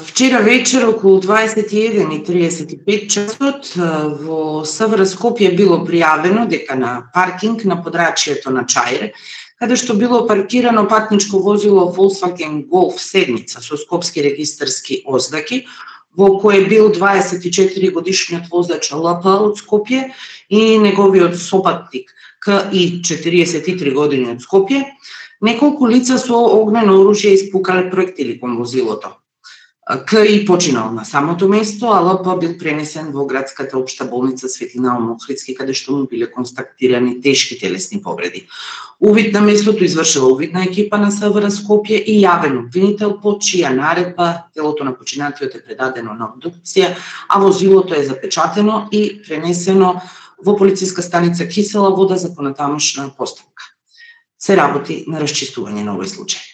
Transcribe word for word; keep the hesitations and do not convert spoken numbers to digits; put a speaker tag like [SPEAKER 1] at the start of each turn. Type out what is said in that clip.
[SPEAKER 1] Вчера вечер околу дваесет и еден и триесет и пет часот во СВР Скопје било пријавено дека на паркинг на подрачјето на Чаир, каде што било паркирано патничко возило Volkswagen Golf седмица со скопски регистарски ознаки, во кое бил дваесет и четири годишниот возач Л П од Скопје и неговиот сопатник К И четириесет и три години од Скопје. Неколку лица со огнено оружје испукале проектили кон возилото. К И починал на самото место, а Л П бил пренесен во градската општа болница Светлина Охридски, каде што му биле констатирани тешки телесни повреди. Увид на местото извршила увидна екипа на СВР Скопје и јавен обвинител, по чија наредба телото на починатиот е предадено на обдукција, а возилото е запечатено и пренесено во полициска станица Кисела Вода за понатамошна постапка. Се работи на расчистување на овој случај.